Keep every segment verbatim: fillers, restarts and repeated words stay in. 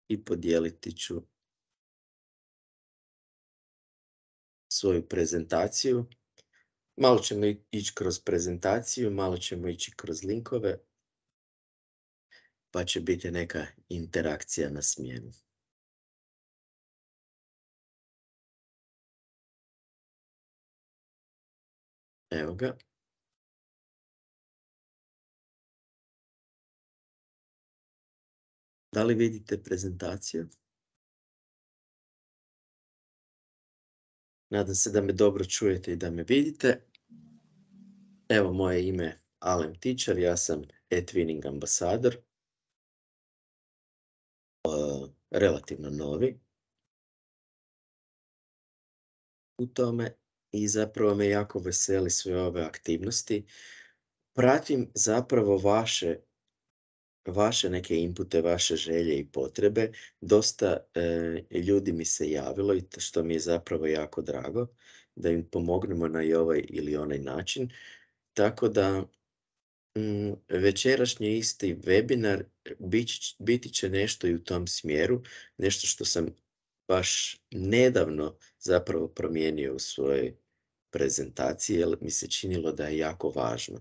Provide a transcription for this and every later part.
i podijeliti ću svoju prezentaciju. Malo ćemo ići kroz prezentaciju, malo ćemo ići kroz linkove, pa će biti neka interakcija na smjenu. Evo ga. Da li vidite prezentaciju? Nadam se da me dobro čujete i da me vidite. Evo, moje ime je Alen Tičar, ja sam eTwinning ambasador, uh, relativno novi u tome i zapravo me jako veseli sve ove aktivnosti. Pratim zapravo vaše, vaše neke inpute, vaše želje i potrebe. Dosta e, ljudi mi se javilo i to što mi je zapravo jako drago da im pomognemo na i ovaj ili onaj način. Tako da mm, večerašnji isti webinar biti, biti će nešto i u tom smjeru, nešto što sam baš nedavno zapravo promijenio u svojoj prezentaciji, jer mi se činilo da je jako važno.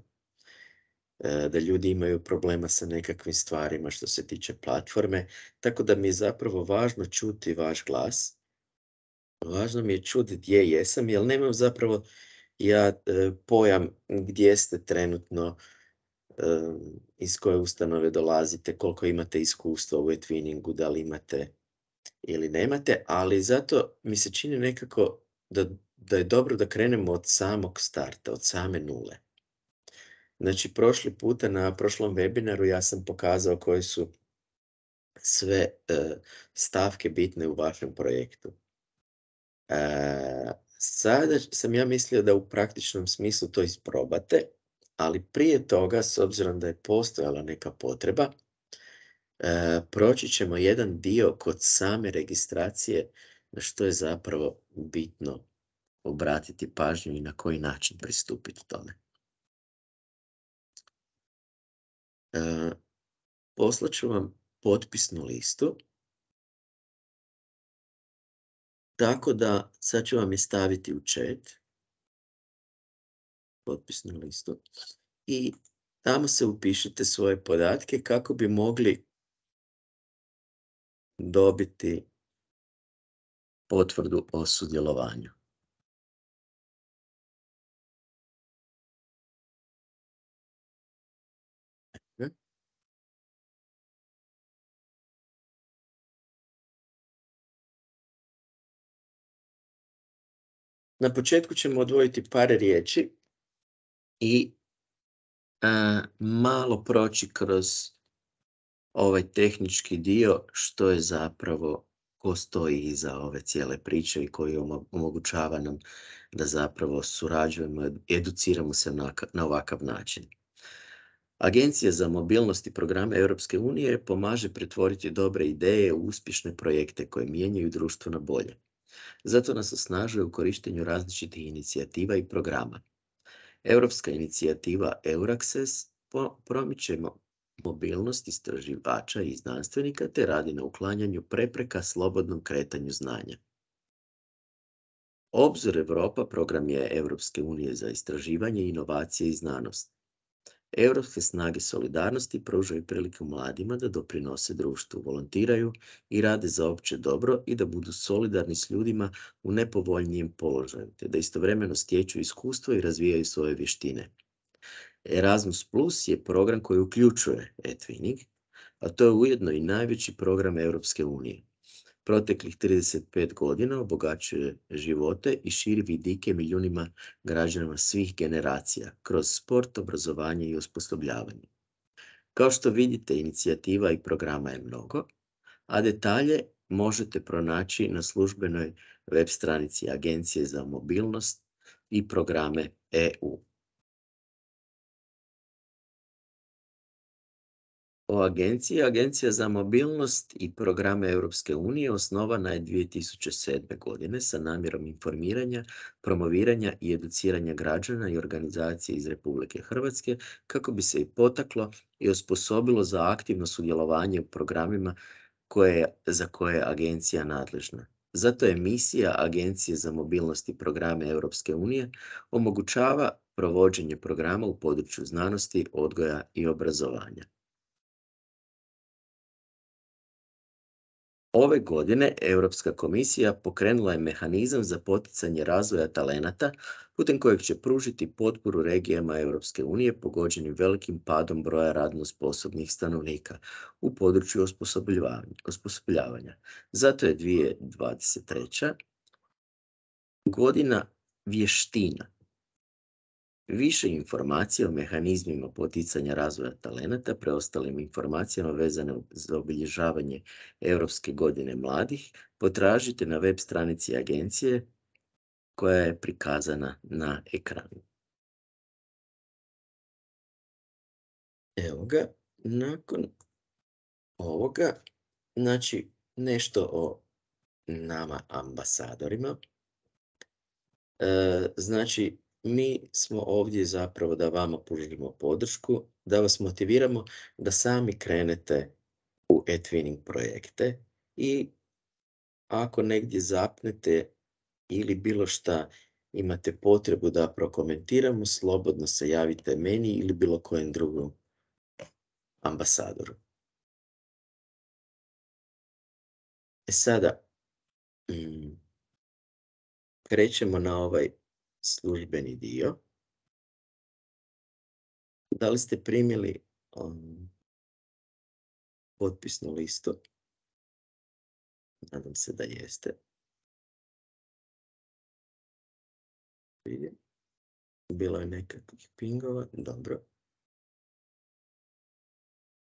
E, da ljudi imaju problema sa nekakvim stvarima što se tiče platforme, tako da mi je zapravo važno čuti vaš glas. Važno mi je čuti gdje jesam, jer nemam zapravo ja e, pojam gdje ste trenutno, e, iz koje ustanove dolazite, koliko imate iskustva u eTwinningu, da li imate ili nemate, ali zato mi se čini nekako da, da je dobro da krenemo od samog starta, od same nule. Znači, prošli puta na prošlom webinaru ja sam pokazao koje su sve e, stavke bitne u vašem projektu. E, sada sam ja mislio da u praktičnom smislu to isprobate, ali prije toga, s obzirom da je postojala neka potreba, e, proći ćemo jedan dio kod same registracije na što je zapravo bitno obratiti pažnju i na koji način pristupiti tome. E, poslat ću vam potpisnu listu, tako da sad ću vam je staviti u chat, potpisnu listu, i tamo se upišite svoje podatke kako bi mogli dobiti potvrdu o sudjelovanju. Na početku ćemo odvojiti par riječi i a, malo proći kroz ovaj tehnički dio, što je zapravo, ko stoji iza ove cijele priče i koji omogućava nam da zapravo surađujemo, educiramo se na, na ovakav način. Agencija za mobilnost i programe Europske unije pomaže pretvoriti dobre ideje u uspješne projekte koje mijenjaju društvo na bolje. Zato nas osnažuje u korištenju različitih inicijativa i programa. Europska inicijativa EURACSES promiče mobilnost istraživača i znanstvenika te radi na uklanjanju prepreka slobodnom kretanju znanja. Obzor Europa program je Europske unije za istraživanje, inovacije i znanost. Europske snage solidarnosti pružaju priliku mladima da doprinose društvu, volontiraju i rade za opće dobro i da budu solidarni s ljudima u nepovoljnijem položaju, te da istovremeno stječu iskustvo i razvijaju svoje vještine. Erasmus Plus je program koji uključuje eTwinning, a to je ujedno i najveći program Europske unije. Proteklih trideset pet godina obogaćuje živote i širi vidike milijunima građana svih generacija kroz sport, obrazovanje i osposobljavanje. Kao što vidite, inicijativa i programa je mnogo, a detalje možete pronaći na službenoj web stranici Agencije za mobilnost i programe E U. O agenciji, Agencija za mobilnost i programe Europske unije osnovana je dvije tisuće sedme. godine sa namjerom informiranja, promoviranja i educiranja građana i organizacije iz Republike Hrvatske kako bi se i potaklo i osposobilo za aktivno sudjelovanje u programima koje, za koje je agencija nadležna. Zato je misija Agencije za mobilnost i programe Europske unije omogućava provođenje programa u području znanosti, odgoja i obrazovanja. Ove godine Europska komisija pokrenula je mehanizam za poticanje razvoja talenata putem kojeg će pružiti potporu regijama Europske unije pogođenim velikim padom broja radno sposobnih stanovnika u području osposobljavanja. osposobljavanja. Zato je dvije tisuće dvadeset treća godina vještina. Više informacija o mehanizmima poticanja razvoja talenata, preostalim informacijama vezane za obilježavanje Europske godine mladih, potražite na web stranici agencije koja je prikazana na ekranu. Evo ga, nakon ovoga, znači nešto o nama ambasadorima. E, znači, mi smo ovdje zapravo da vama pružimo podršku, da vas motiviramo da sami krenete u e-twinning projekte i ako negdje zapnete ili bilo šta imate potrebu da prokomentiramo, slobodno se javite meni ili bilo kojem drugom ambasadoru. E sada, mm, krećemo na ovaj službeni dio. Da li ste primili um, potpisnu listu? Nadam se da jeste. Vidim. Bilo je nekakvih pingova. Dobro.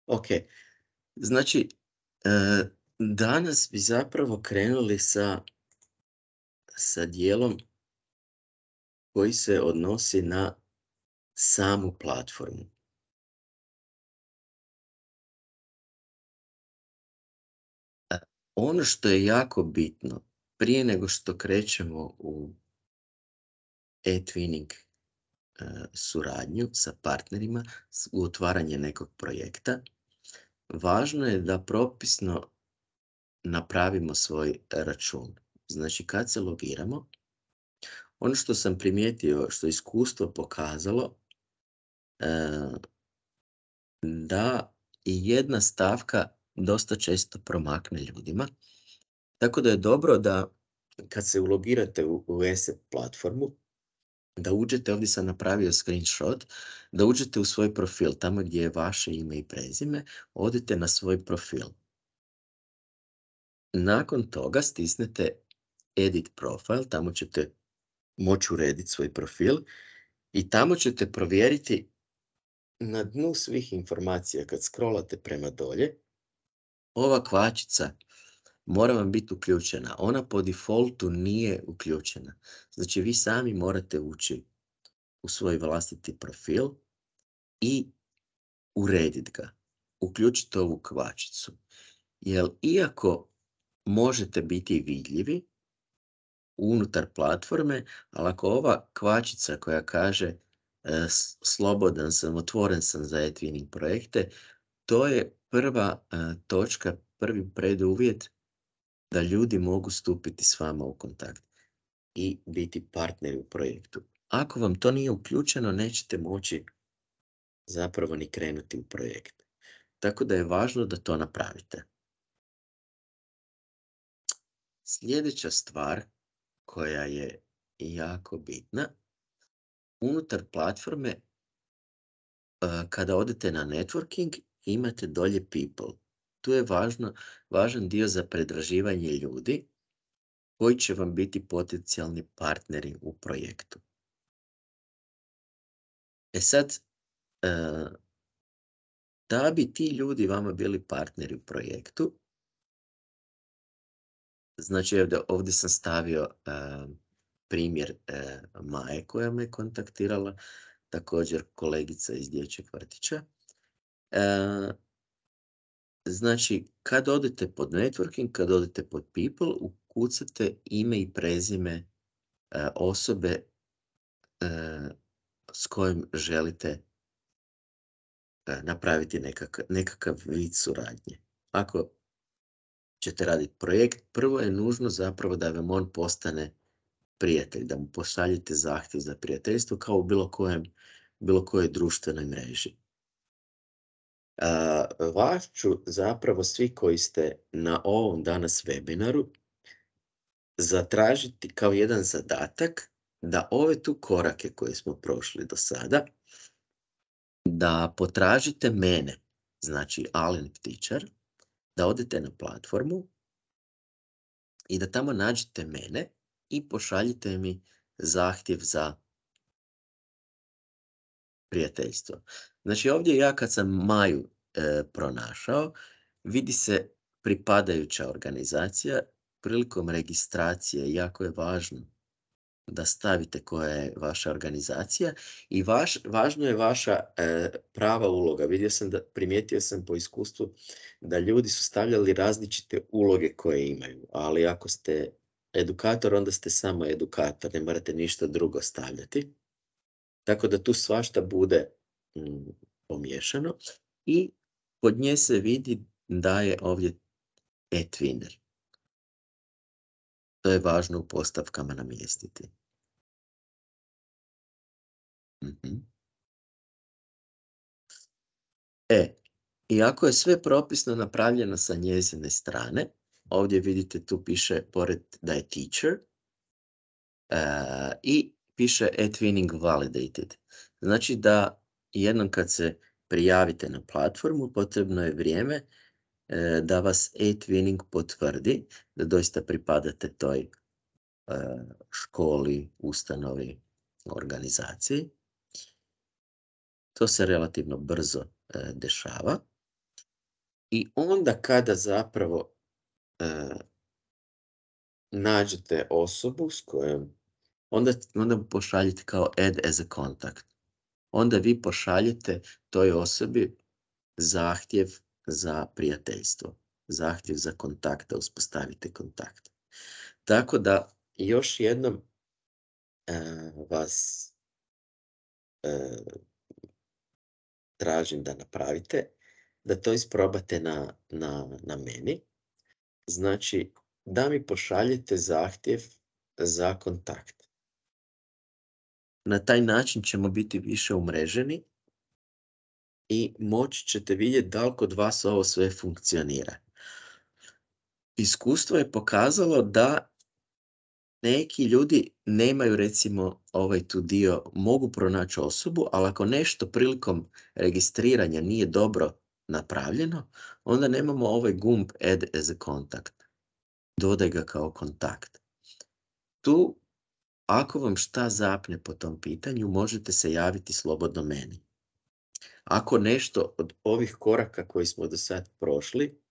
Ok. Znači, e, danas bi zapravo krenuli sa, sa dijelom koji se odnosi na samu platformu. E, ono što je jako bitno, prije nego što krećemo u e-twinning e, suradnju sa partnerima, u otvaranje nekog projekta, važno je da propisno napravimo svoj račun. Znači, kad se logiramo, ono što sam primijetio, što je iskustvo pokazalo, e, da i jedna stavka dosta često promakne ljudima. Tako da je dobro da kad se ulogirate u, u ESET platformu, da uđete, ovdje sam napravio screenshot, da uđete u svoj profil, tamo gdje je vaše ime i prezime, odite na svoj profil. Nakon toga stisnete Edit Profile, tamo ćete moći urediti svoj profil i tamo ćete provjeriti na dnu svih informacija kad scrollate prema dolje, ova kvačica mora vam biti uključena. Ona po defaultu nije uključena. Znači vi sami morate ući u svoj vlastiti profil i urediti ga. Uključite ovu kvačicu. Jer iako možete biti vidljivi unutar platforme, ali ako ova kvačica koja kaže e, slobodan sam, otvoren sam za e-twinning projekte, to je prva e, točka, prvi preduvjet da ljudi mogu stupiti s vama u kontakt i biti partneri u projektu. Ako vam to nije uključeno, nećete moći zapravo ni krenuti u projekt. Tako da je važno da to napravite. Sljedeća stvar koja je jako bitna, unutar platforme, kada odete na networking, imate dolje people. Tu je važno, važan dio za predraživanje ljudi koji će vam biti potencijalni partneri u projektu. E sad, da bi ti ljudi vama bili partneri u projektu, znači ovdje, ovdje sam stavio primjer Maje koja me kontaktirala, također kolegica iz dječjeg vrtića. Znači, kad odete pod networking, kad odete pod people, ukucate ime i prezime osobe s kojim želite napraviti nekakav, nekakav vid suradnje. Ako ćete raditi projekt, prvo je nužno zapravo da vam on postane prijatelj, da mu pošaljete zahtjev za prijateljstvo kao u bilo kojem, bilo kojoj društvenoj mreži. Uh, vas ću zapravo svi koji ste na ovom danas webinaru zatražiti kao jedan zadatak da ove tu korake koje smo prošli do sada, da potražite mene, znači Alen Ptičar, da odete na platformu i da tamo nađete mene i pošaljite mi zahtjev za prijateljstvo. Znači ovdje ja kad sam Maju e, pronašao, vidi se pripadajuća organizacija. Prilikom registracije jako je važno da stavite koja je vaša organizacija i vaš, važno je vaša e, prava uloga. Vidio sam da, primijetio sam po iskustvu da ljudi su stavljali različite uloge koje imaju, ali ako ste edukator, onda ste samo edukator, ne morate ništa drugo stavljati. Tako da tu svašta bude mm, pomiješano i pod nje se vidi da je ovdje eTwinner. To je važno u postavkama namjestiti. Mm-hmm. E, i ako je sve propisno napravljeno sa njezine strane, ovdje vidite tu piše pored da je teacher uh, i piše eTwinning validated. Znači da jednom kad se prijavite na platformu, potrebno je vrijeme uh, da vas eTwinning potvrdi, da doista pripadate toj uh, školi, ustanovi, organizaciji. To se relativno brzo uh, dešava. I onda kada zapravo uh, nađete osobu s kojom, onda, onda pošaljete kao add as a contact. Onda vi pošaljete toj osobi zahtjev za prijateljstvo, zahtjev za kontakt, da uspostavite kontakt. Tako da još jednom uh, vas uh, tražim da napravite, da to isprobate na, na, na meni. Znači, da mi pošaljete zahtjev za kontakt. Na taj način ćemo biti više umreženi i moći ćete vidjeti da li kod vas ovo sve funkcionira. Iskustvo je pokazalo da neki ljudi nemaju recimo ovaj tu dio, mogu pronaći osobu, ali ako nešto prilikom registriranja nije dobro napravljeno, onda nemamo ovaj gumb add as a contact. Dodaj ga kao kontakt. Tu, ako vam šta zapne po tom pitanju, možete se javiti slobodno meni. Ako nešto od ovih koraka koji smo do sad prošli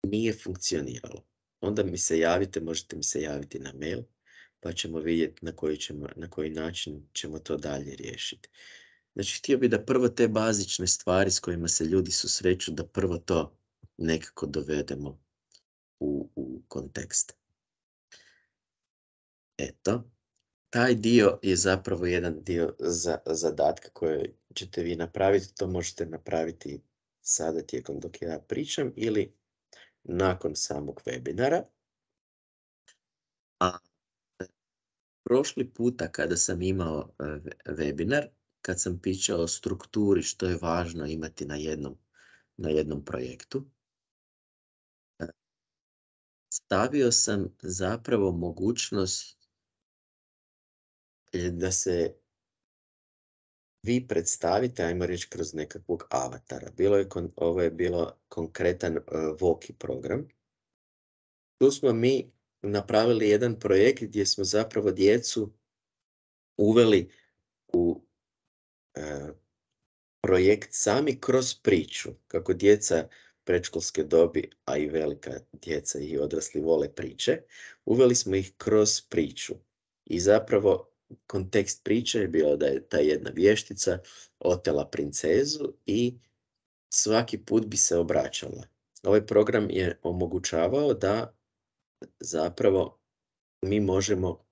nije funkcioniralo, onda mi se javite, možete mi se javiti na mail, pa ćemo vidjeti na koji, ćemo, na koji način ćemo to dalje riješiti. Znači, htio bih da prvo te bazične stvari s kojima se ljudi susreću, da prvo to nekako dovedemo u, u kontekst. Eto, taj dio je zapravo jedan dio za, zadatka koje ćete vi napraviti. To možete napraviti sada tijekom dok ja pričam ili nakon samog webinara. A prošli puta kada sam imao webinar, kad sam pričao o strukturi što je važno imati na jednom, na jednom projektu, stavio sam zapravo mogućnost da se vi predstavite, ajmo reći, kroz nekakvog avatara. Bilo je, ovo je bilo konkretan uh, Voki program. Tu smo mi napravili jedan projekt gdje smo zapravo djecu uveli u uh, projekt sami kroz priču. Kako djeca predškolske dobi, a i velika djeca i odrasli vole priče, uveli smo ih kroz priču. I zapravo kontekst priče je bio da je ta jedna vještica otela princezu i svaki put bi se obraćala. Ovaj program je omogućavao da zapravo mi možemo uh,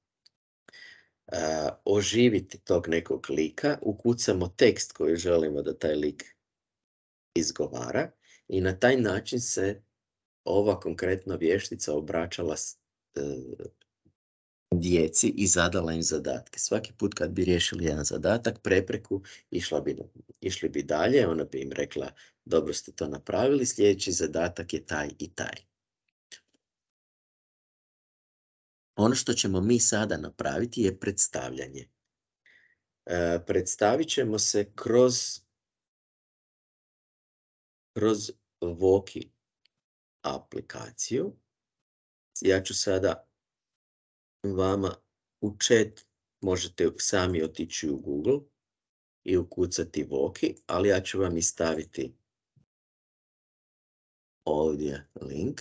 oživiti tog nekog lika, ukucamo tekst koji želimo da taj lik izgovara i na taj način se ova konkretna vještica obraćala s e, djeci i zadala im zadatke. Svaki put kad bi riješili jedan zadatak, prepreku, išla bi, išli bi dalje, ona bi im rekla dobro ste to napravili, sljedeći zadatak je taj i taj. Ono što ćemo mi sada napraviti je predstavljanje. E, predstavit ćemo se kroz, kroz Voki aplikaciju. Ja ću sada vama u chat, možete sami otići u Google i ukucati Voki, ali ja ću vam i staviti ovdje link.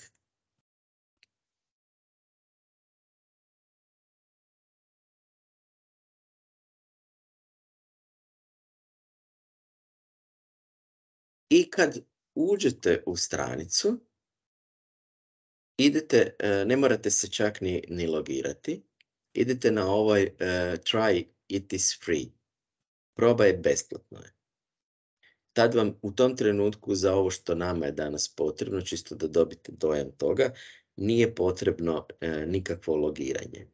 I kad uđete u stranicu, idete, ne morate se čak ni, ni logirati, idete na ovaj uh, try it is free. Probaj besplatno je. Tad vam u tom trenutku za ovo što nama je danas potrebno, čisto da dobite dojam toga, nije potrebno e, nikakvo logiranje.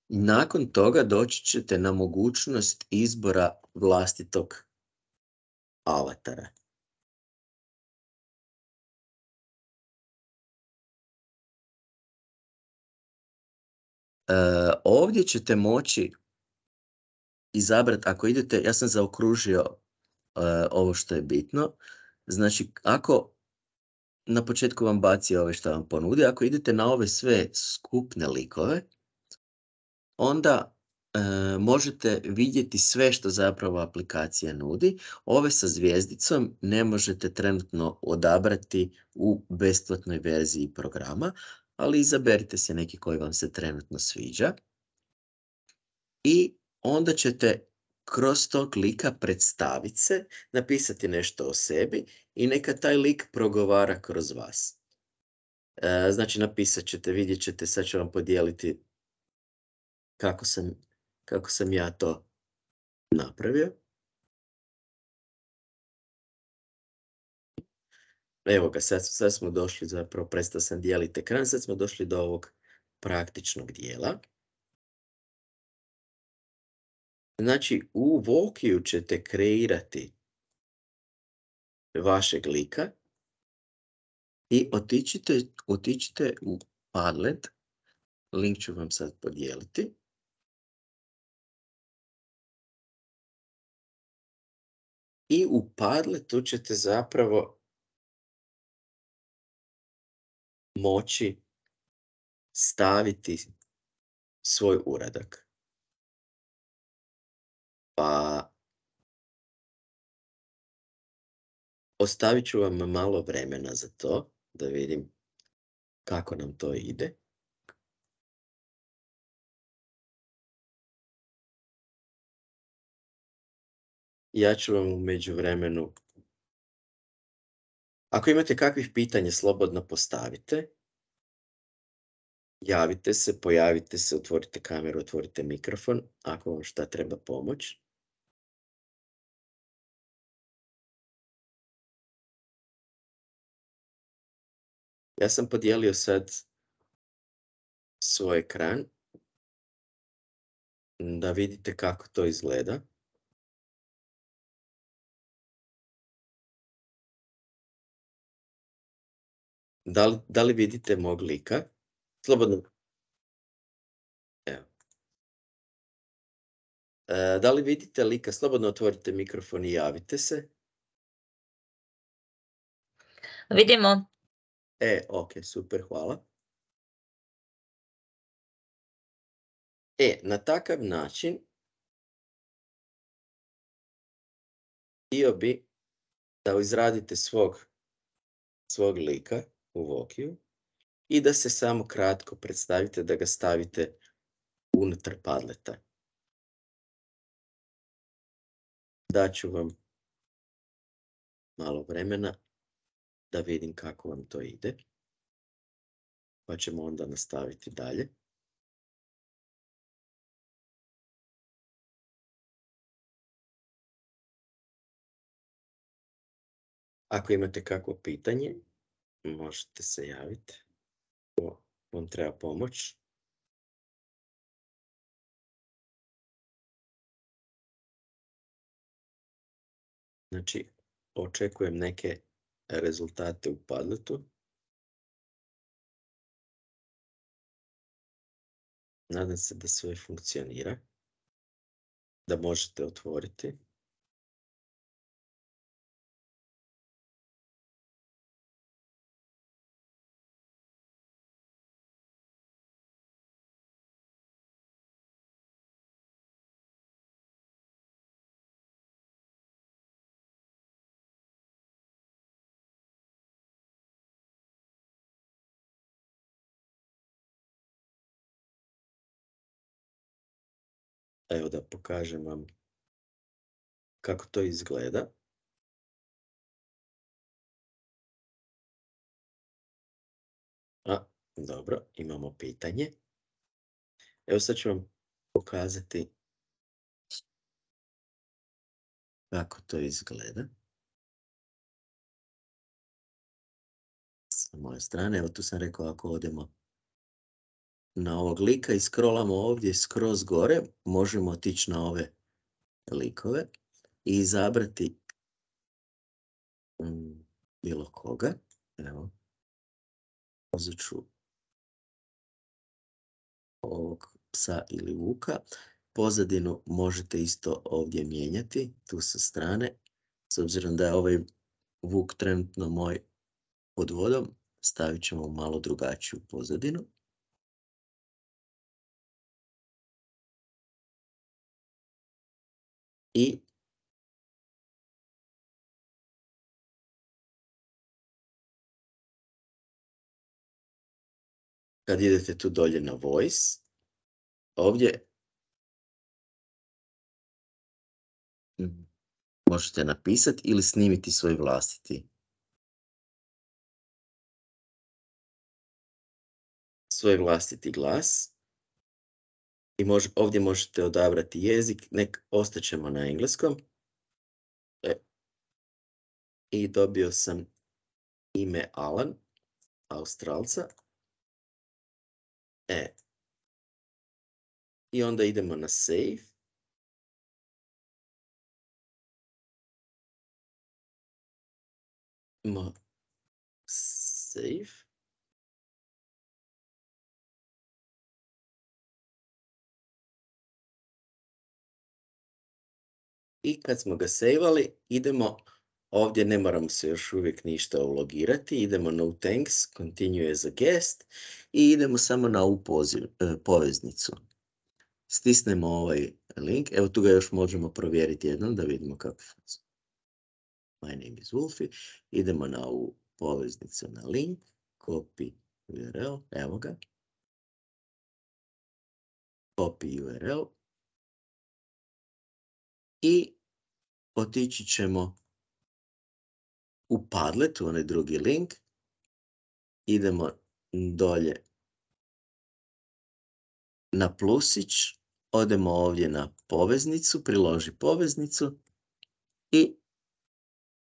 Nakon toga doći ćete na mogućnost izbora vlastitog avatara. E, ovdje ćete moći izabrati, ako idete, ja sam zaokružio uh, ovo što je bitno, znači ako na početku vam baci ove što vam ponudi, ako idete na ove sve skupne likove, onda uh, možete vidjeti sve što zapravo aplikacija nudi. Ove sa zvijezdicom ne možete trenutno odabrati u besplatnoj verziji programa, ali izaberite se neki koji vam se trenutno sviđa. I onda ćete kroz tog lika predstaviti se, napisati nešto o sebi i neka taj lik progovara kroz vas. E, znači napisat ćete, vidjet ćete, sad ću vam podijeliti kako sam, kako sam ja to napravio. Evo ga, sad, sad smo došli, zapravo prestao sam dijeliti ekran, sad smo došli do ovog praktičnog dijela. Znači, u Vokiju ćete kreirati vašeg lika i otičite, otičite u Padlet, link ću vam sad podijeliti. I u Padletu ćete zapravo moći staviti svoj uradak. Pa ostavit ću vam malo vremena za to, da vidim kako nam to ide. Ja ću vam u međuvremenu, ako imate kakvih pitanja, slobodno postavite. Javite se, pojavite se, otvorite kameru, otvorite mikrofon, ako vam šta treba pomoć. Ja sam podijelio sad svoj ekran, da vidite kako to izgleda. Da li, da li vidite mog lika? Slobodno. Evo. E, da li vidite lika? Slobodno otvorite mikrofon i javite se. Vidimo. E, ok, super, hvala. E, na takav način htio bi da izradite svog, svog lika u Vokiju i da se samo kratko predstavite, da ga stavite unutar Padleta. Daću vam malo vremena da vidim kako vam to ide, pa ćemo onda nastaviti dalje. Ako imate kakvo pitanje, možete se javiti. Ako vam treba pomoć. Znači, očekujem neke rezultate u Padletu. Nadam se da sve funkcionira, da možete otvoriti. Evo da pokažem vam kako to izgleda. A, dobro, imamo pitanje. Evo sad ću vam pokazati kako to izgleda. Sa moje strane, evo tu sam rekao ako odemo na ovog lika i scrollamo ovdje skroz gore, možemo otići na ove likove i izabrati mm, bilo koga. Evo, uzet ću ovog psa ili vuka. Pozadinu možete isto ovdje mijenjati, tu sa strane. S obzirom da je ovaj vuk trenutno moj pod vodom, stavit ćemo malo drugačiju pozadinu. I kad idete tu dolje na voice, ovdje možete napisati ili snimiti svoj vlastiti. Svoj vlastiti glas. I mož, ovdje možete odabrati jezik, nek ostaćemo na engleskom. E. I dobio sam ime Alan, Australca. E. I onda idemo na save. Mo save. I kad smo ga sejvali, idemo, ovdje ne moramo se još uvijek ništa ulogirati, idemo no thanks, continue as a guest i idemo samo na ovu poziv, poveznicu. Stisnemo ovaj link, evo tu ga još možemo provjeriti jednom da vidimo kako funkcionira. My name is Wolfie, idemo na ovu poveznicu na link, copy U R L, evo ga. Copy U R L. I otići ćemo u Padlet, u onaj drugi link. Idemo dolje na plusić, odemo ovdje na poveznicu, priloži poveznicu i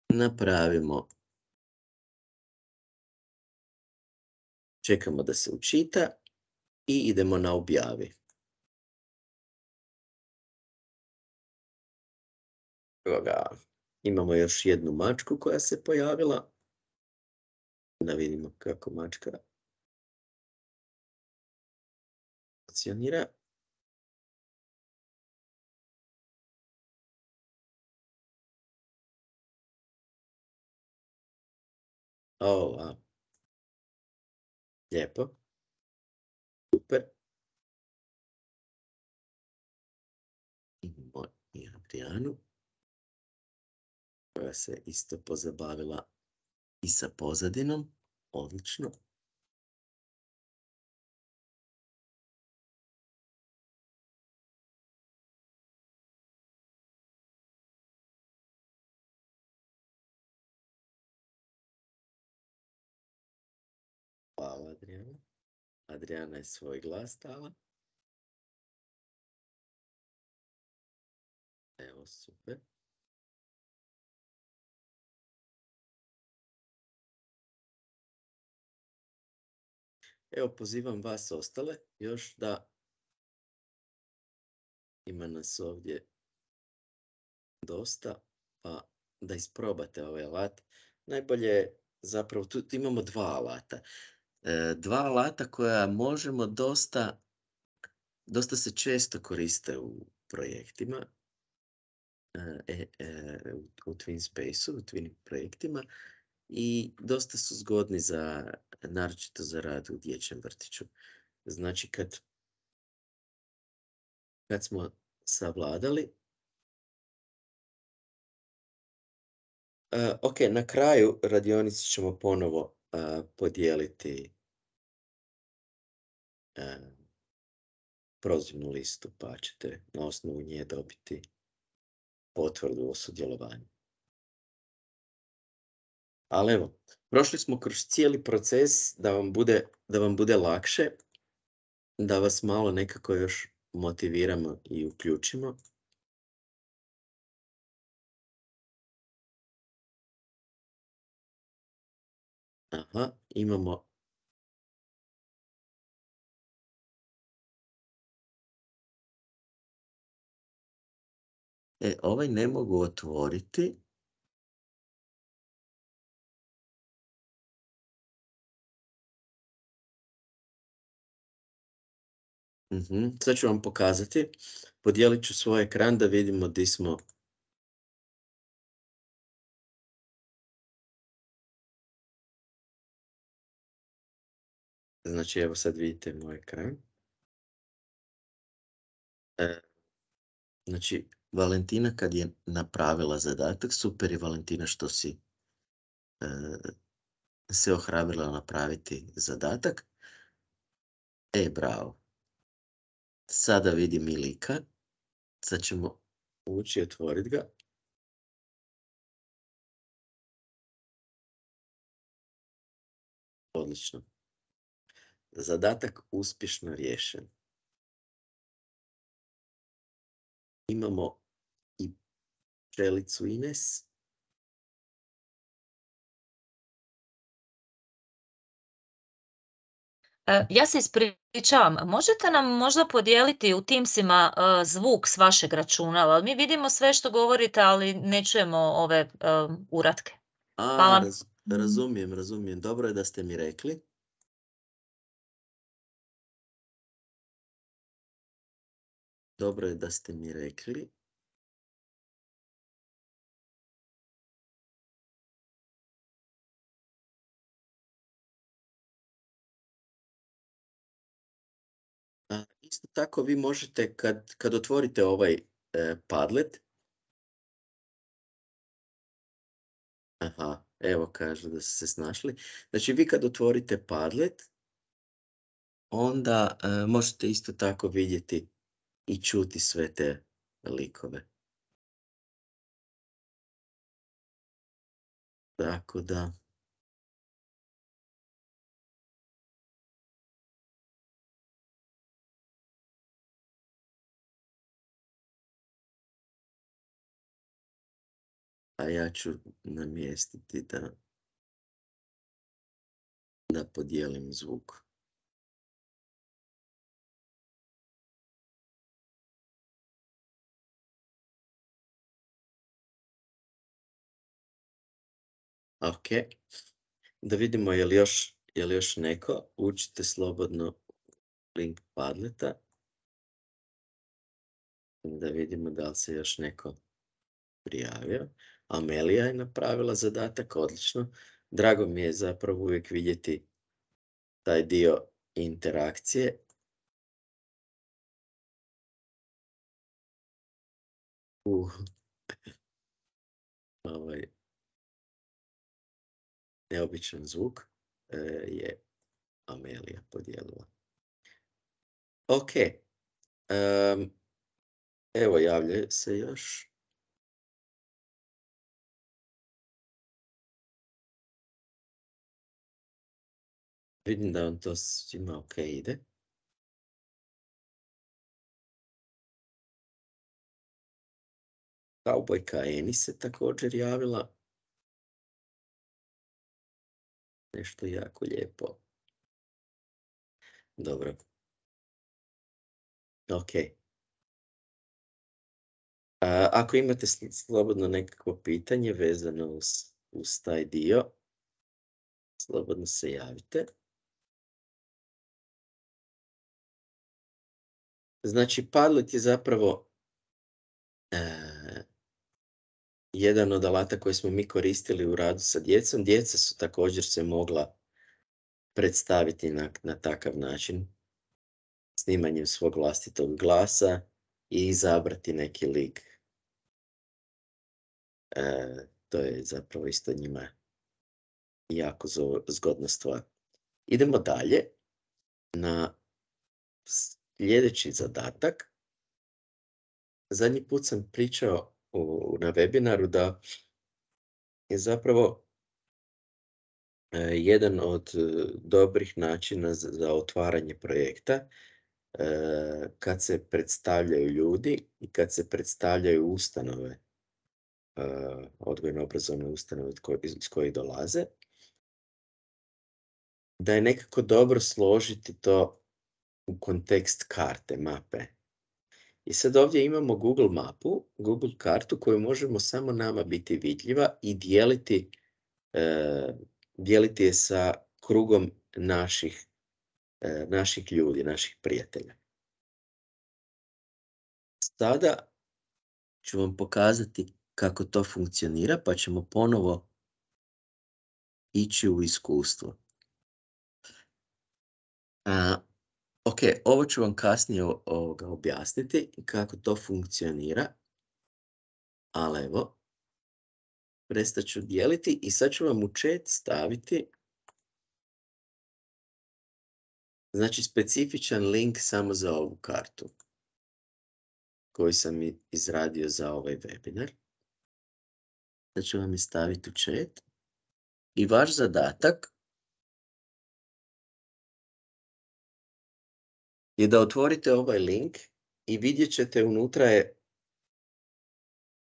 napravimo, čekamo da se učita i idemo na objavi. Evo ga, imamo još jednu mačku koja se pojavila. Da vidimo kako mačka funkcionira. O, a. Lijepo. Super. Imamo i Adrianu, koja se isto pozabavila i sa pozadinom. Odlično. Hvala, Adriana. Adriana je svoj glas dala. Evo, super. Evo, pozivam vas ostale još da ima nas ovdje dosta, pa da isprobate ovaj alat. Najbolje je zapravo, tu tu imamo dva alata. E, dva alata koja možemo dosta dosta se često koriste u projektima, e, e, u u TwinSpace-u, u Twinning projektima i dosta su zgodni za, naročito za rad u dječjem vrtiću. Znači kad kad smo savladali, e, ok, na kraju radionice ćemo ponovo a, podijeliti e, prozivnu listu, pa ćete na osnovu nje dobiti potvrdu o sudjelovanju. Ali evo, prošli smo kroz cijeli proces da vam bude, da vam bude lakše, da vas malo nekako još motiviramo i uključimo. Aha, imamo e, ovaj ne mogu otvoriti. Mhm, sad ću vam pokazati. Podijelit ću svoj ekran da vidimo di smo. Znači, evo sad vidite moj ekran. E, znači, Valentina kad je napravila zadatak, super je Valentina što si e, se ohrabrila napraviti zadatak. E, bravo. Sada vidim i lika. Sad ćemo ući i otvoriti ga. Odlično. Zadatak uspješno riješen. Imamo i pčelicu Ines. E, ja se ispričavam, možete nam možda podijeliti u Teamsima e, zvuk s vašeg računala? Mi vidimo sve što govorite, ali ne čujemo ove e, uratke. A, Hvala. raz, razumijem, razumijem. Dobro je da ste mi rekli. Dobro je da ste mi rekli. A, isto tako vi možete kad, kad otvorite ovaj e, Padlet. Aha, evo kažu da su se snašli. Znači vi kad otvorite Padlet, onda e, možete isto tako vidjeti i čuti sve te likove. Tako da, a ja ću namjestiti da, da podijelim zvuk. Ok, da vidimo je li još, je li još neko. Učite slobodno link Padleta. Da vidimo da li se još neko prijavio. Amelija je napravila zadatak, odlično. Drago mi je zapravo uvijek vidjeti taj dio interakcije. Uh, ovaj neobičan zvuk e, je Amelija podijelila. Ok, um, evo javlja se još. Vidim da vam to svima ok ide. Kaubojka Eni se također javila. Nešto jako lijepo. Dobro. Ok. A, ako imate sl- slobodno nekakvo pitanje vezano uz, uz taj dio, slobodno se javite. Znači, Padlet je zapravo e, jedan od alata koji smo mi koristili u radu sa djecom. Djeca su također se mogla predstaviti na, na takav način, snimanjem svog vlastitog glasa i izabrati neki lik. E, to je zapravo isto njima jako zo- zgodna stvar. Idemo dalje na sljedeći zadatak. Zadnji put sam pričao u, na webinaru da je zapravo e, jedan od e, dobrih načina za, za otvaranje projekta e, kad se predstavljaju ljudi i kad se predstavljaju ustanove, e, odgojno-obrazovne ustanove iz koje- iz kojih dolaze, da je nekako dobro složiti to u kontekst karte, mape. I sad ovdje imamo Google mapu, Google kartu koju možemo samo nama biti vidljiva i dijeliti, e, dijeliti je sa krugom naših, e, naših ljudi, naših prijatelja. Sada ću vam pokazati kako to funkcionira, pa ćemo ponovo ići u iskustvo. A, ok, ovo ću vam kasnije o- ovoga objasniti kako to funkcionira, ali evo, prestat ću dijeliti i sad ću vam u chat staviti znači specifičan link samo za ovu kartu koji sam i- izradio za ovaj webinar. Sad ću vam je staviti u chat. I vaš zadatak je da otvorite ovaj link i vidjet ćete unutra je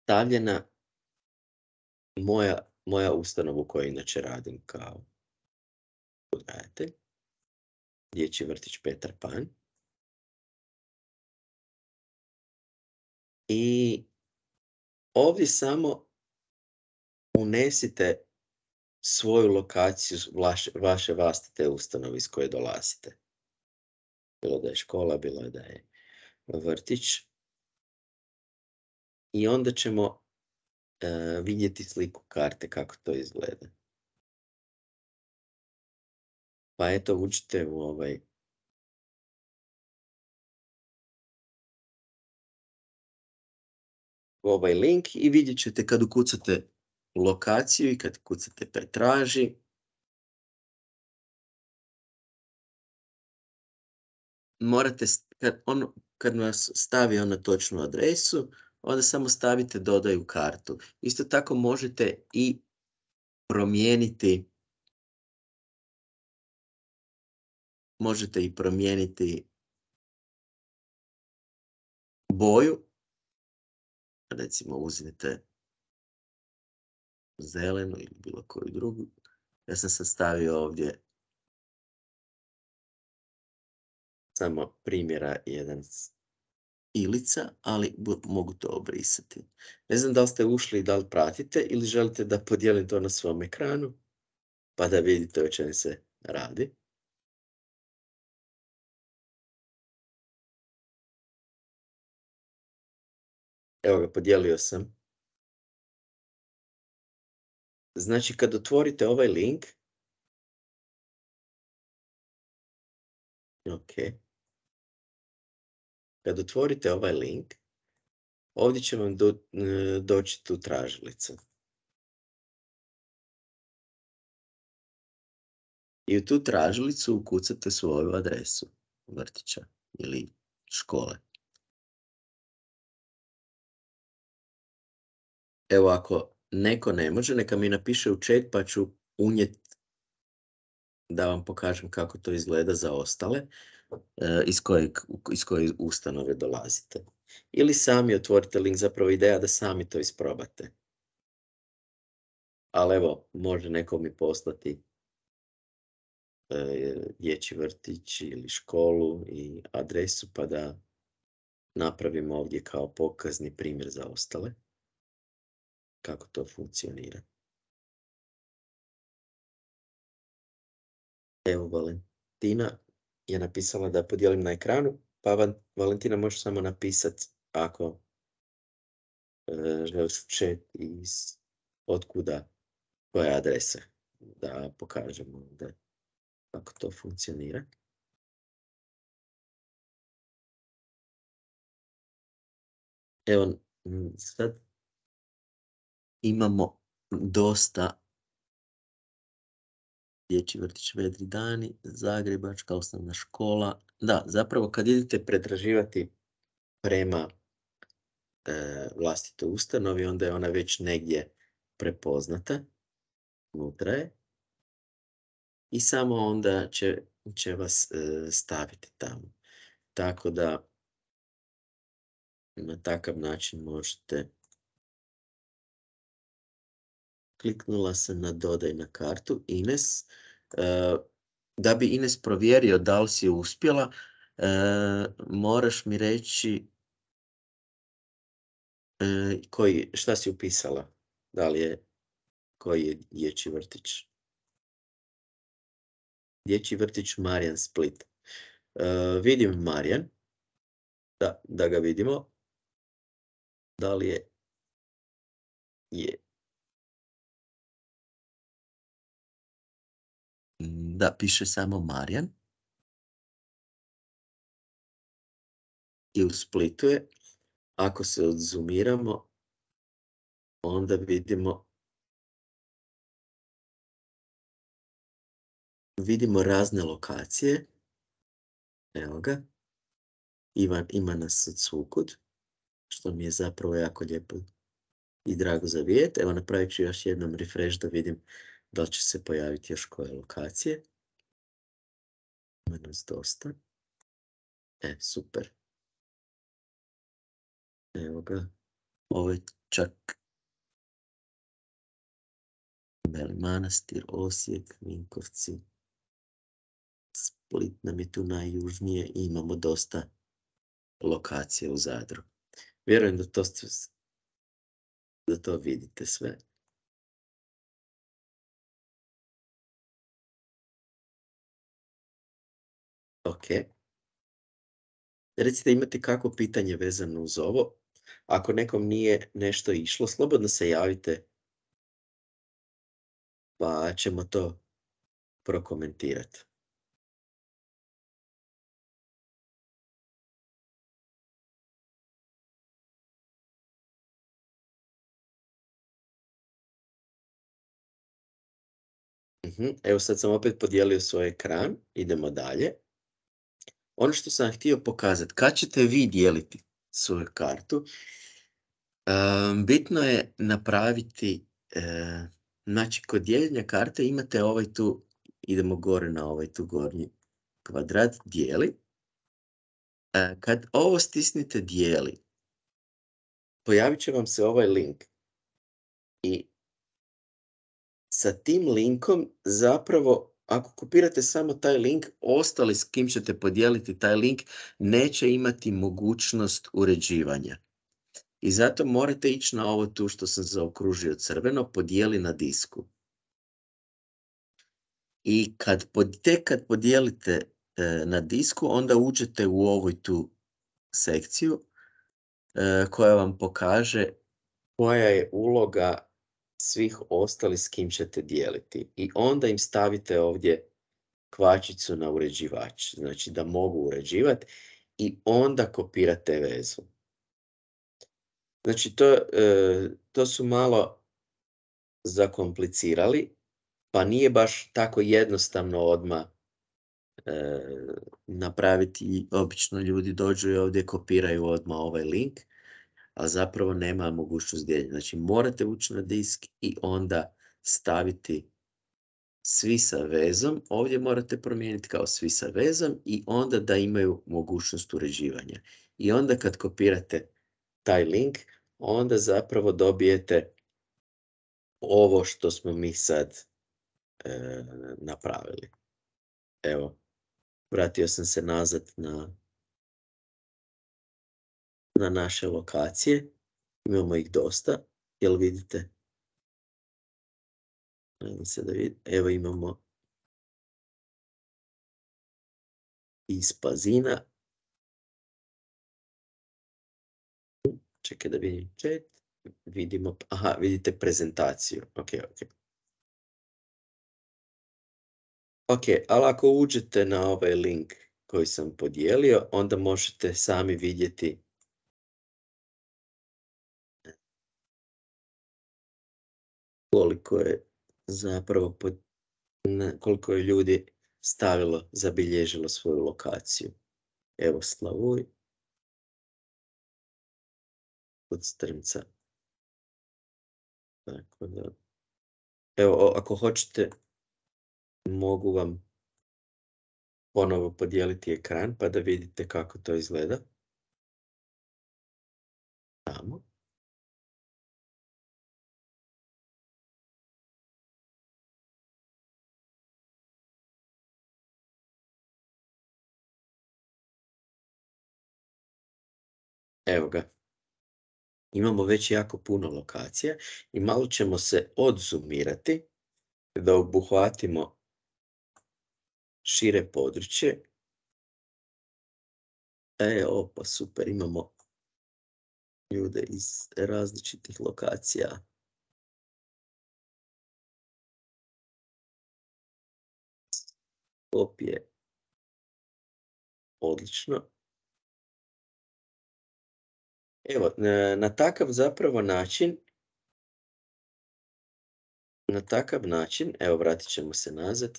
stavljena moja, moja ustanova u kojoj inače radim kao odgajatelj. Dječji vrtić Petar Pan. I ovdje samo unesite svoju lokaciju vaše, vaše vlastite ustanove iz koje dolazite. Bilo da je škola, bilo da je vrtić. I onda ćemo uh, vidjeti sliku karte kako to izgleda. Pa eto, uđite u ovaj u ovaj link i vidjet ćete kad ukucate lokaciju i kad kucate pretraži. Morate, kad, on, kad vas stavi on na točnu adresu, onda samo stavite dodaj u kartu. Isto tako možete i promijeniti možete i promijeniti boju. Recimo uzmite zelenu ili bilo koju drugu. Ja sam sad stavio ovdje samo primjera jedan Ilica, ali mogu to obrisati. Ne znam da li ste ušli i da li pratite ili želite da podijelim to na svom ekranu, pa da vidite o čemu se radi. Evo ga, podijelio sam. Znači, kad otvorite ovaj link, ok, kad otvorite ovaj link, ovdje će vam do, doći tu tražilica. I u tu tražilicu ukucate svoju adresu vrtića ili škole. Evo, ako neko ne može, neka mi napiše u chat pa ću unijeti da vam pokažem kako to izgleda za ostale, iz kojeg, iz koje ustanove dolazite. Ili sami otvorite link, zapravo ideja da sami to isprobate. Ali evo, može neko mi poslati e, dječji vrtić ili školu i adresu pa da napravimo ovdje kao pokazni primjer za ostale kako to funkcionira. Evo, Valentina je napisala da podijelim na ekranu, pa Van- Valentina možeš samo napisati ako e, želiš u chat iz otkuda, koja je adresa, da pokažemo da kako to funkcionira. Evo, m, sad imamo dosta dječji vrtić Vedri dani, Zagrebačka osnovna škola. Da, zapravo kad idete pretraživati prema e, vlastitoj ustanovi, onda je ona već negdje prepoznata, unutra je, i samo onda će, će vas e, staviti tamo. Tako da na takav način možete. Kliknula sam na dodaj na kartu Ines. E, da bi Ines provjerio da li si uspjela, e, moraš mi reći e, koji, šta si upisala. Da li je, koji je dječji vrtić? Dječji vrtić Marijan Split. E, vidim Marijan. Da, da ga vidimo. Da li je? Je. Da, piše samo Marijan. I u Splitu je. Ako se odzoomiramo, onda vidimo vidimo razne lokacije. Evo ga. Ivan, ima nas od svukud, što mi je zapravo jako lijepo i drago za vidjeti. Evo, napravit ću još jednom refresh da vidim da li će se pojaviti još koje lokacije. Ima nas dosta. E, super. Evo ga. Ovo je čak Beli Manastir, Osijek, Vinkovci. Split nam je tu najjužnije i imamo dosta lokacija u Zadru. Vjerujem da to, da to vidite sve. Ok. Recite, imate kakvo pitanje vezano uz ovo? Ako nekom nije nešto išlo, slobodno se javite, pa ćemo to prokomentirati. Mhm. Evo, sad sam opet podijelio svoj ekran. Idemo dalje. Ono što sam htio pokazati, kad ćete vi dijeliti svoju kartu, um, bitno je napraviti, uh, znači kod dijeljenja karte imate ovaj tu, idemo gore na ovaj tu gornji kvadrat, dijeli. Uh, kad ovo stisnete dijeli, pojavit će vam se ovaj link. I sa tim linkom zapravo, ako kopirate samo taj link, ostali s kim ćete podijeliti taj link neće imati mogućnost uređivanja. I zato morate ići na ovo tu što sam zaokružio crveno, podijeli na disku. I kad, tek kad podijelite e, na disku, onda uđete u ovoj tu sekciju e, koja vam pokaže koja je uloga svih ostalih s kim ćete dijeliti. I onda im stavite ovdje kvačicu na uređivač, znači da mogu uređivati, i onda kopirate vezu. Znači to, e, to su malo zakomplicirali, pa nije baš tako jednostavno odmah e, napraviti. Obično ljudi dođu i ovdje kopiraju odmah ovaj link, a zapravo nema mogućnost dijeljenja. Znači morate ući na disk i onda staviti svi sa vezom. Ovdje morate promijeniti kao svi sa vezom i onda da imaju mogućnost uređivanja. I onda kad kopirate taj link, onda zapravo dobijete ovo što smo mi sad e, napravili. Evo, vratio sam se nazad na, na naše lokacije. Imamo ih dosta. Jel vidite? Nadam se da vidite. Evo imamo iz Pazina. Čekaj da vidim chat. Vidimo, aha, vidite prezentaciju. Ok, ok. Ok, ali ako uđete na ovaj link koji sam podijelio, onda možete sami vidjeti koliko je zapravo pod, ne, koliko je ljudi stavilo, zabilježilo svoju lokaciju. Evo Slavuj kod Strmca. Tako da, evo, ako hoćete, mogu vam ponovo podijeliti ekran pa da vidite kako to izgleda. Tamo. Evo ga. Imamo već jako puno lokacija i malo ćemo se odzoomirati da obuhvatimo šire područje. E, opa, super, imamo ljude iz različitih lokacija. Opije. Odlično. Evo, na, na takav zapravo način, na takav način, evo vratit ćemo se nazad.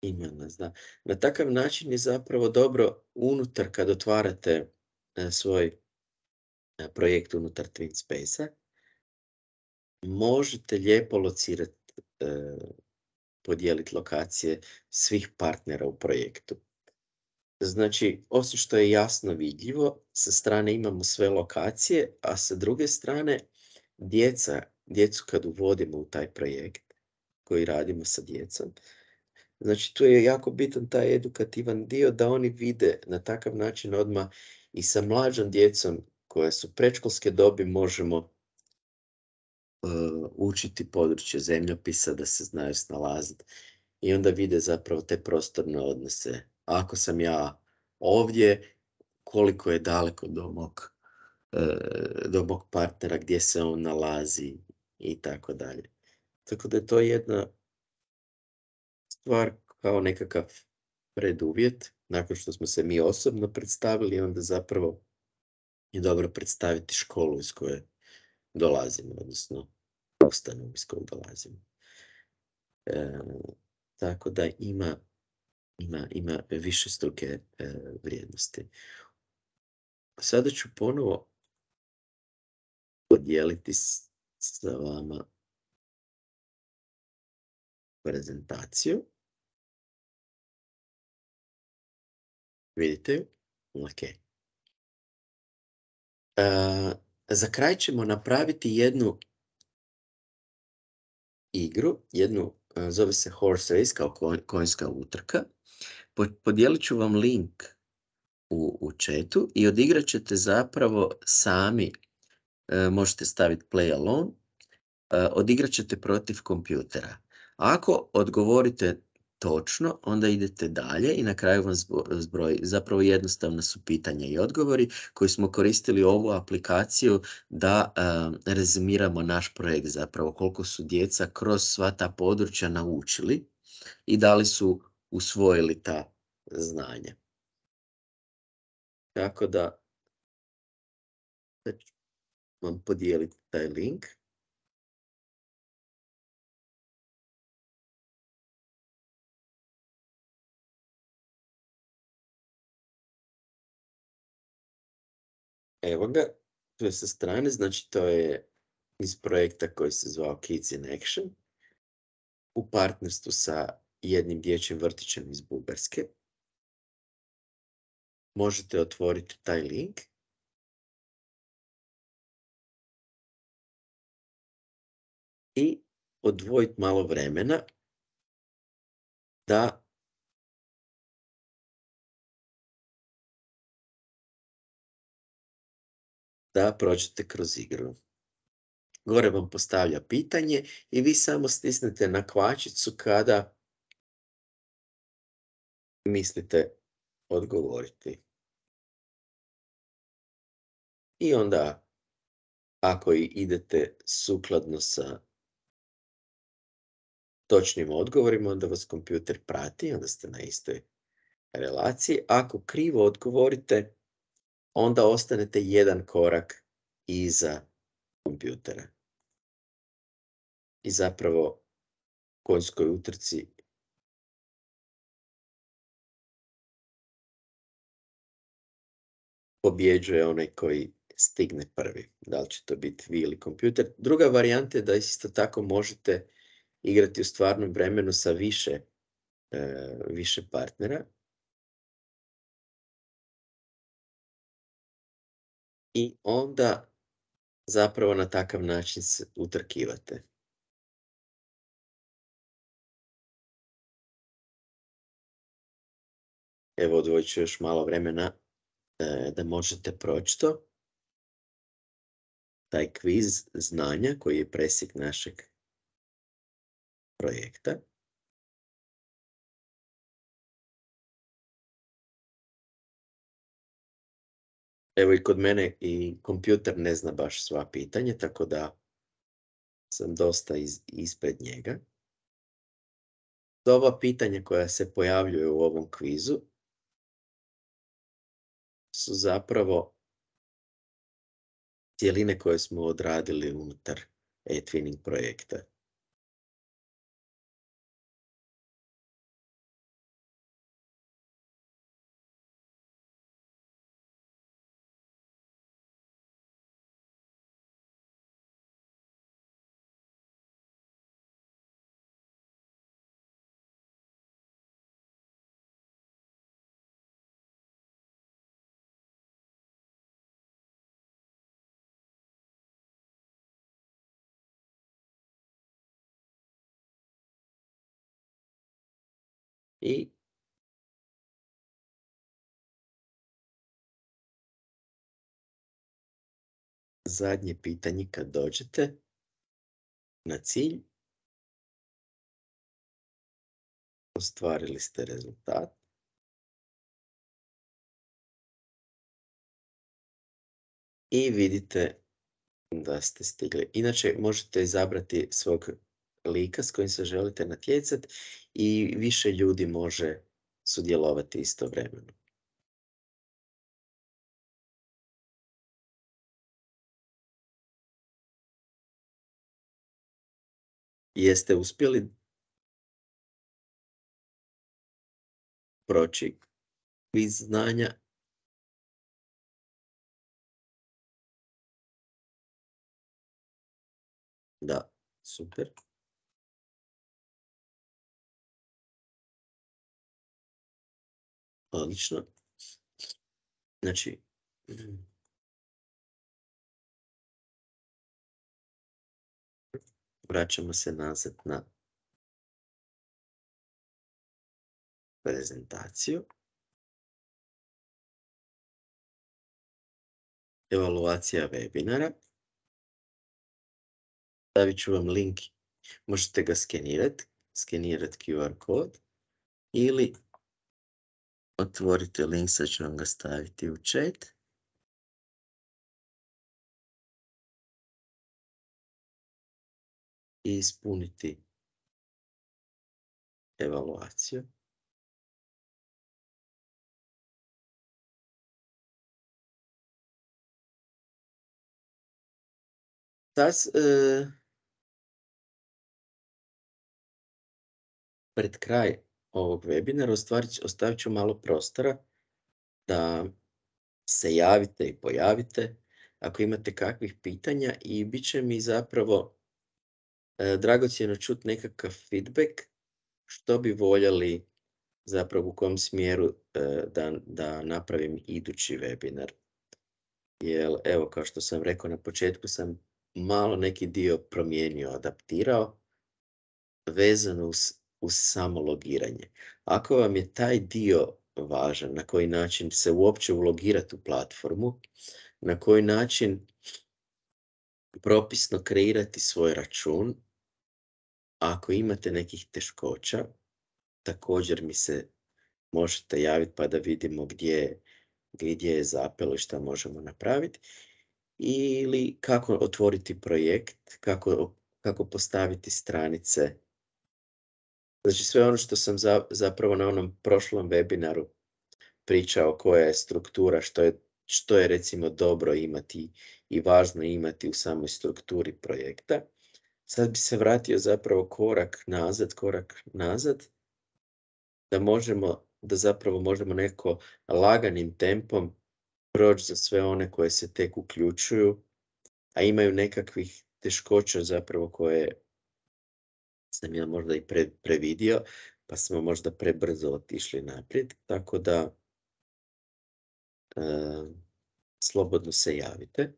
Ima nas, da. Na takav način je zapravo dobro unutar kad otvarate e, svoj e, projekt unutar TwinSpace-a, možete lijepo locirati, e, podijeliti lokacije svih partnera u projektu. Znači, osim što je jasno vidljivo, sa strane imamo sve lokacije, a sa druge strane, djeca, djecu kad uvodimo u taj projekt koji radimo sa djecom, znači tu je jako bitan taj edukativan dio da oni vide na takav način odmah i sa mlađom djecom koja su predškolske dobi možemo uh, učiti područje zemljopisa da se znaju snalaziti i onda vide zapravo te prostorne odnose. Ako sam ja ovdje, koliko je daleko do mog, uh, do mog partnera, gdje se on nalazi i tako dalje. Tako da je to jedna stvar kao nekakav preduvjet, nakon što smo se mi osobno predstavili, onda zapravo je dobro predstaviti školu iz koje dolazimo, odnosno ustanovu iz koje dolazimo. E, tako da ima, ima, ima više struke e, vrijednosti. Sada ću ponovo podijeliti s, sa vama prezentaciju. Vidite ju? Ok. Uh, za kraj ćemo napraviti jednu igru, jednu, uh, zove se Horse Race, kao konjska utrka. Podijelit ću vam link u, u chatu i odigrat ćete zapravo sami, uh, možete staviti play alone, uh, odigrat ćete protiv kompjutera. Ako odgovorite točno, onda idete dalje i na kraju vam zbroji. Zapravo jednostavno su pitanja i odgovori koji smo koristili ovu aplikaciju da uh, rezimiramo naš projekt, zapravo koliko su djeca kroz sva ta područja naučili i da li su usvojili ta znanja. Tako da ću vam podijeliti taj link. Evo ga, tu je sa strane, znači to je iz projekta koji se zvao Kids in Action u partnerstvu sa jednim dječjim vrtićem iz Bugarske. Možete otvoriti taj link i odvojiti malo vremena da da prođete kroz igru. Gore vam postavlja pitanje i vi samo stisnete na kvačicu kada mislite odgovoriti. I onda, ako i idete sukladno sa točnim odgovorima, onda vas kompjuter prati, onda ste na istoj relaciji. Ako krivo odgovorite, onda ostanete jedan korak iza kompjutera. I zapravo, u konjskoj utrci pobjeđuje onaj koji stigne prvi. Da li će to biti vi ili kompjuter. Druga varijanta je da isto tako možete igrati u stvarnom vremenu sa više, e, više partnera. I onda zapravo na takav način se utrkivate. Evo, odvojit ću još malo vremena e, da možete proći to. Taj kviz znanja koji je presjek našeg projekta. Evo i kod mene i kompjuter ne zna baš sva pitanja, tako da sam dosta iz, ispred njega. Ova pitanja koja se pojavljuju u ovom kvizu su zapravo cjeline koje smo odradili unutar e-twinning projekta. I zadnje pitanje kad dođete na cilj, ostvarili ste rezultat. I vidite da ste stigli. Inače, možete izabrati svog lika s kojim se želite natjecati i više ljudi može sudjelovati istovremeno. Jeste uspjeli proći kviz znanja? Da, super. Odlično. Znači, vraćamo se nazad na prezentaciju. Evaluacija webinara. Stavit ću vam link, možete ga skenirati, skenirati Q R kod ili otvorite link, sad ću vam ga staviti u chat. I ispuniti evaluaciju. Sad, e, pred kraj ovog webinara ostavit ću malo prostora da se javite i pojavite ako imate kakvih pitanja i bit će mi zapravo e, dragocjeno čuti nekakav feedback što bi voljeli zapravo u kom smjeru e, da, da napravim idući webinar. Jer evo, kao što sam rekao na početku, sam malo neki dio promijenio, adaptirao vezano uz uz samo logiranje. Ako vam je taj dio važan, na koji način se uopće ulogirati u platformu, na koji način propisno kreirati svoj račun, ako imate nekih teškoća, također mi se možete javiti pa da vidimo gdje, gdje je zapelo i šta možemo napraviti. Ili kako otvoriti projekt, kako, kako postaviti stranice. Znači sve ono što sam za, zapravo na onom prošlom webinaru pričao, koja je struktura, što je, što je recimo dobro imati i važno imati u samoj strukturi projekta. Sad bi se vratio zapravo korak nazad, korak nazad, da možemo, da zapravo možemo neko laganim tempom proći za sve one koje se tek uključuju, a imaju nekakvih teškoća zapravo koje sam ja možda i pre, previdio, pa smo možda prebrzo otišli naprijed, tako da e, slobodno se javite.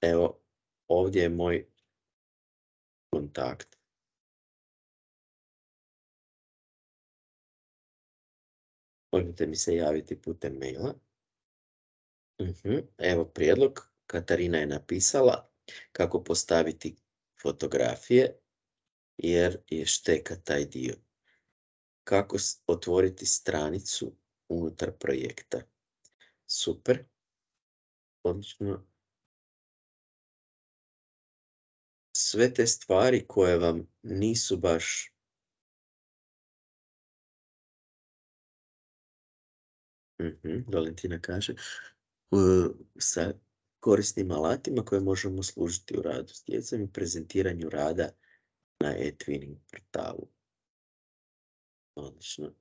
Evo, ovdje je moj kontakt. Možete mi se javiti putem maila. Uh-huh. Evo prijedlog. Katarina je napisala kako postaviti fotografije, jer je šteka taj dio. Kako otvoriti stranicu unutar projekta. Super. Odlično. Sve te stvari koje vam nisu baš uh-huh. Valentina kaže uh, sa korisnim alatima koje možemo služiti u radu s djecom i prezentiranju rada na e-twinning portalu. Odlično.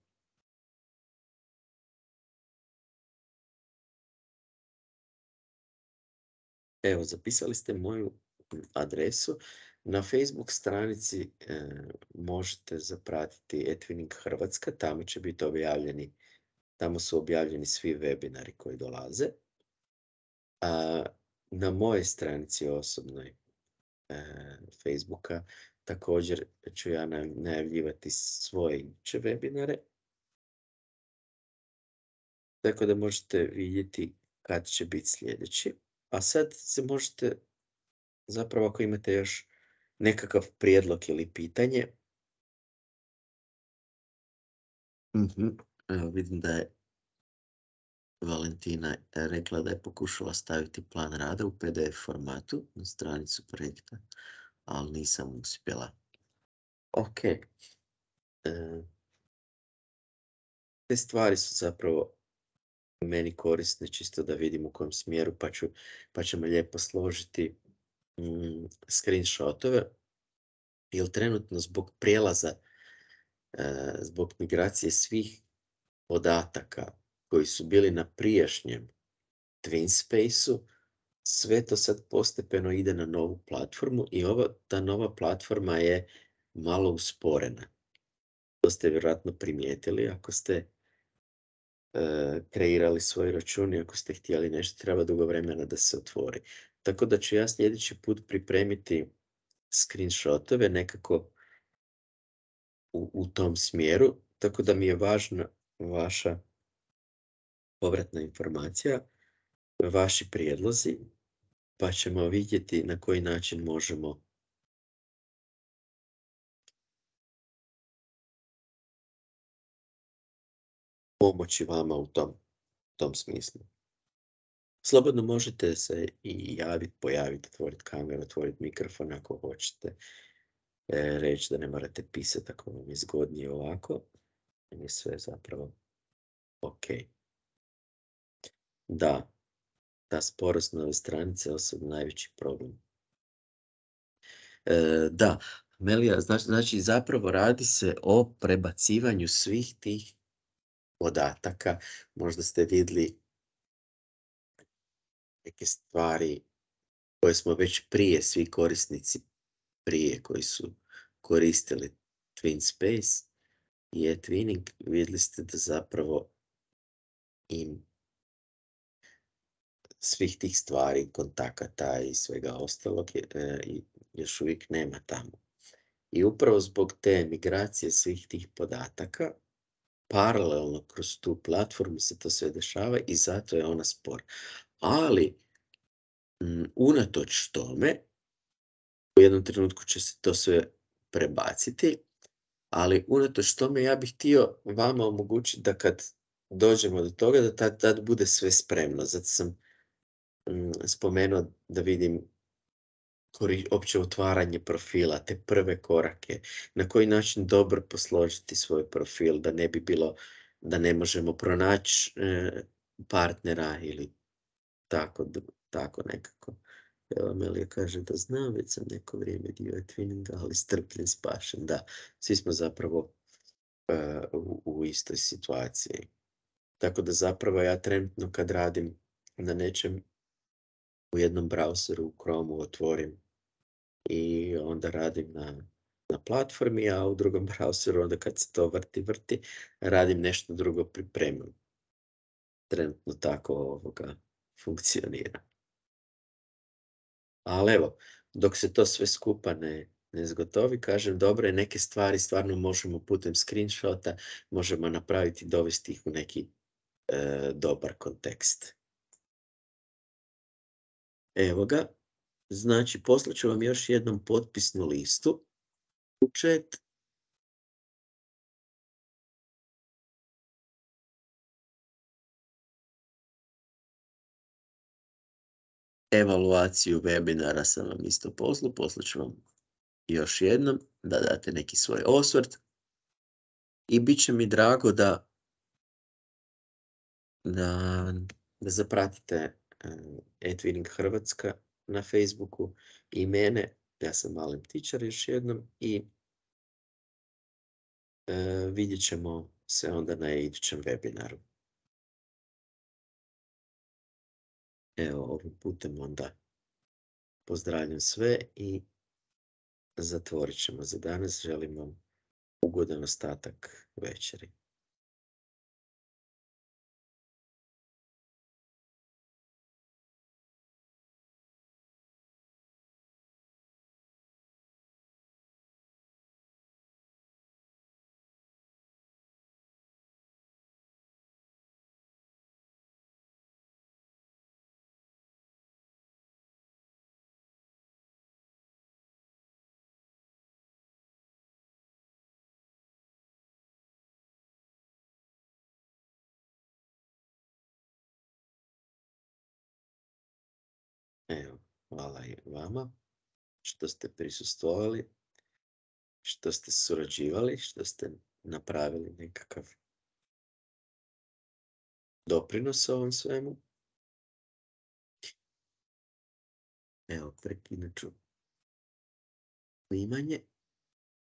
Evo, zapisali ste moju adresu. Na Facebook stranici e, možete zapratiti eTwinning Hrvatska, tamo će biti objavljeni, tamo su objavljeni svi webinari koji dolaze. A na mojoj stranici osobnoj e, Facebooka također ću ja najavljivati svoje iduće webinare. Tako da možete vidjeti kad će biti sljedeći. A sad se možete, zapravo ako imate još nekakav prijedlog ili pitanje. Uh-huh. Evo, vidim da je Valentina rekla da je pokušala staviti plan rada u P D F formatu na stranicu projekta, ali nisam uspjela. Ok. E, te stvari su zapravo meni korisne, čisto da vidim u kojem smjeru, pa, ću, pa ćemo lijepo složiti mm, screenshotove. Jer trenutno zbog prijelaza, e, zbog migracije svih podataka koji su bili na prijašnjem TwinSpace-u, sve to sad postepeno ide na novu platformu i ova, ta nova platforma je malo usporena. To ste vjerojatno primijetili ako ste e, kreirali svoj račun i ako ste htjeli nešto, treba dugo vremena da se otvori. Tako da ću ja sljedeći put pripremiti screenshotove nekako u, u tom smjeru, tako da mi je važna vaša povratna informacija, vaši prijedlozi, pa ćemo vidjeti na koji način možemo pomoći vama u tom, tom smislu. Slobodno možete se i javiti, pojaviti, otvoriti kameru, otvoriti mikrofon ako hoćete. E, reći da ne morate pisati ako vam je zgodnije ovako. Je sve zapravo ok. Da, ta sporost nove stranice je osobno najveći problem. E, da, Melija, znači, znači zapravo radi se o prebacivanju svih tih podataka. Možda ste vidjeli neke stvari koje smo već prije, svi korisnici prije koji su koristili TwinSpace i eTwinning, vidjeli ste da zapravo im svih tih stvari, kontakata i svega ostalog je, e, i još uvijek nema tamo. I upravo zbog te migracije svih tih podataka, paralelno kroz tu platformu se to sve dešava i zato je ona spora. Ali, mm, unatoč tome, u jednom trenutku će se to sve prebaciti, ali unatoč tome ja bih htio vama omogućiti da kad dođemo do toga, da tad, tad bude sve spremno. Zato sam mm, spomenuo da vidim kori, opće otvaranje profila, te prve korake, na koji način dobro posložiti svoj profil, da ne bi bilo da ne možemo pronaći e, partnera ili tako, d- tako nekako. Evo, Amelija kaže da znam, već sam neko vrijeme dio Twinninga, ali strpljen, spašen. Da, svi smo zapravo e, u, u istoj situaciji. Tako da zapravo ja trenutno kad radim na nečem u jednom browseru u Chromeu otvorim i onda radim na, na platformi, a u drugom browseru onda kad se to vrti, vrti, radim nešto drugo, pripremam. Trenutno tako ovoga funkcionira. Ali evo, dok se to sve skupa ne, ne zgotovi, kažem, dobre, neke stvari stvarno možemo putem screenshota, možemo napraviti, dovesti ih u neki e, dobar kontekst. Evo ga, znači poslaću vam još jednom potpisnu listu u chat. Evaluaciju webinara sam vam isto poslao, poslaću vam još jednom da date neki svoj osvrt i bit će mi drago da da, da zapratite uh, eTwinning Hrvatska na Facebooku i mene, ja sam Malen Ptičar još jednom i uh, vidjet ćemo se onda na idućem webinaru. Evo, ovim putem onda pozdravljam sve i zatvorit ćemo za danas. Želim vam ugodan ostatak večeri. Evo, hvala i vama što ste prisustvovali, što ste surađivali, što ste napravili nekakav doprinos ovom svemu. Evo, prekinut ću snimanje.